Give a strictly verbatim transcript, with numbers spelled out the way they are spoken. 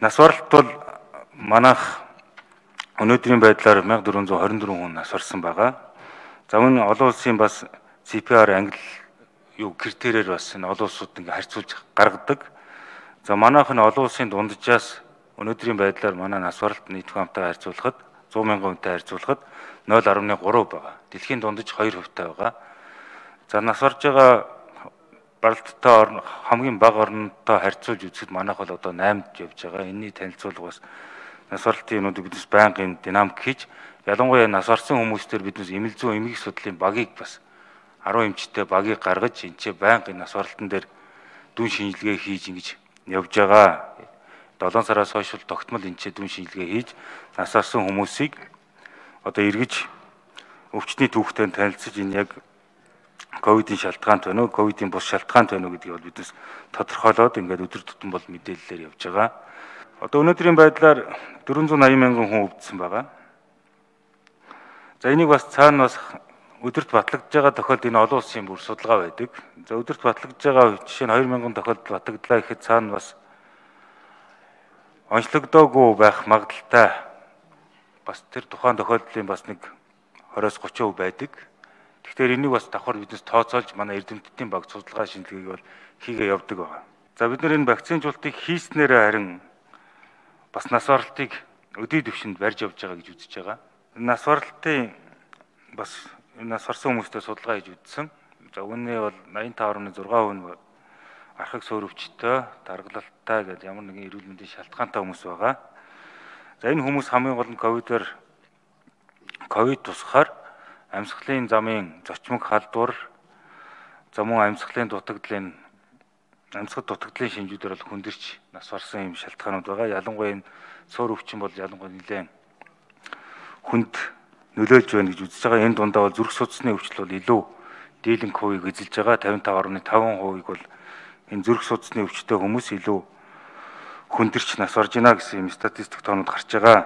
Нас баралт бол манайх өнөөдрийн байдлаар one thousand four hundred twenty-four хүн нас барсан байгаа. За мөн олон улсын бас си пи ар англи юу критериэр бас энэ олон улсууд ингээ харьцуулж гаргадаг. За манайх нь олон улсын дунджаас өнөөдрийн байдлаар манай нас баралт нийт хамтаа харьцуулахад one hundred мянган хүнтэй харьцуулахад zero point three байгаа. Дэлхийн дундаж two хувьтай байгаа. За нас барж байгаа баралттай орн хамгийн бага орнтой харьцуулж үзэхэд манайх бол одоо eighth явж байгаа. Энэний танилцуулга бас нас баралтын юмнуудыг биднес байнгын динамик хийж, ялангуяа нас барсан хүмүүстээр биднес эмэл зүйн эмгэг судлалын багийг бас ten эмчтэй багийг гаргаж энэ байнгын нас баралтан дээр дүн шинжилгээ хийж ингэж явж байгаа. seven сараас хойш тогтмол энэ дүн шинжилгээ хийж нас барсан хүмүүсийг одоо эргэж өвчтний түүхтэй танилцж энэ яг ковидын шалтгаант байна уу, ковидын бус шалтгаант байна уу гэдгийг бол биднес тодорхойлоод ингээд өдөр тутам бол мэдээлэлээр явж байгаа. Одоо өнөөдрийн байдлаар four hundred eighty мянган хүн өвдсөн байгаа. За энийг бас цаана бас өдөрт батлагдж байгаа тохиолдолд энэ олон улсын бүр судалгаа байдаг. За өдөрт батлагдж байгаа жишээ нь two thousand тохиолдолд батлагдлаа гэхэд цаана бас онцлогдоогүй байх магадaltaй бас тэр тухайн тохиолдлын бас нэг twenty-thirty percent байдаг. Тэгэхээр энийг бас давхар биднес тооцоолж манай эрдэмтдийн баг судалгаа шинжилгээг бол хийгээ явдаг байгаа. За бид нар энэ вакцинжуулалтыг хийснээрээ харин бас нас баралтыг өдий төвшөнд барьж явж байгаа гэж үзэж байгаа. Нас баралтын бас нас барсан хүмүүстэй судалгаа хийж үзсэн. За үүнээ бол ninety-five point six percent архаг суур өвчтөй, даргалалттай гэдэг ямар нэгэн эрүүл мэндийн шалтгаантай хүмүүс байгаа. За энэ хүмүүс хамгийн гол нь ковидоор ковид тусахаар амьсгалын замын зочмог халдвар, за мөн амьсгалын дутагдлын амьсгал дутагдлын шинжүүдээр бол хүндэрч нас барсан юм шалтгаанууд байгаа. Ялангуяа энэ суур өвчин бол ялангуяа нэлээд хүнд нөлөөлж байна гэж үзэж байгаа. Энэ дундаа бол зүрх судасны өвчтөл бол илүү дийлэнх хувийг эзэлж байгаа. fifty-five point five percent бол энэ зүрх судасны өвчтөй хүмүүс илүү хүндэрч нас барж байна гэсэн юм статистик тоонууд гарч байгаа.